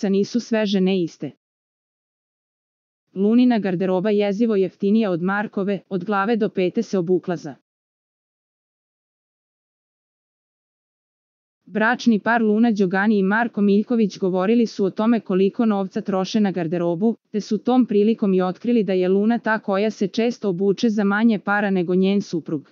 porodica nisu sve žene iste. Lunina garderoba jezivo jeftinija od Markove, od glave do pete se obuklaza. Bračni par Luna Đogani i Marko Miljković govorili su o tome koliko novca troše na garderobu, te su tom prilikom i otkrili da je Luna ta koja se često obuče za manje para nego njen suprug.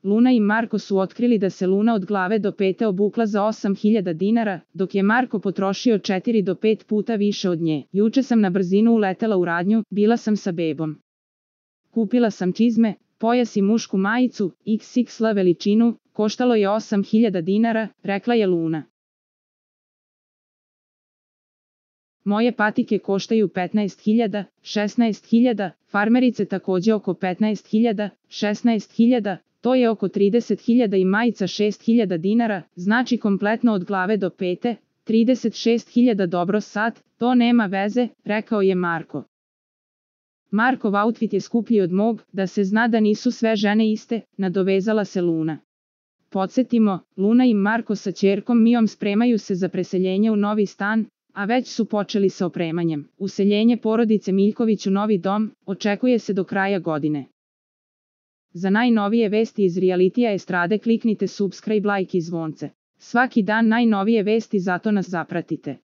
Luna i Marko su otkrili da se Luna od glave do pete obukla za 8.000 dinara, dok je Marko potrošio 4 do 5 puta više od nje. Juče sam na brzinu uletela u radnju, bila sam sa bebom. Kupila sam čizme, pojas i mušku majicu, XXL veličinu, koštalo je 8.000 dinara, rekla je Luna. Moje patike koštaju 15.000, 16.000, farmerice takođe oko 15.000, 16.000, to je oko 30.000 i majica 6.000 dinara, znači kompletno od glave do pete, 36.000. Dobro sad, to nema veze, rekao je Marko. Markov outfit je skuplji od mog, da se zna da nisu sve žene iste, nadovezala se Luna. Podsjetimo, Luna i Marko sa ćerkom Mijom spremaju se za preseljenje u novi stan, a već su počeli sa opremanjem. Useljenje porodice Miljković u novi dom očekuje se do kraja godine. Za najnovije vesti iz realitija estrade kliknite subscribe, like i zvonce. Svaki dan najnovije vesti, zato nas zapratite.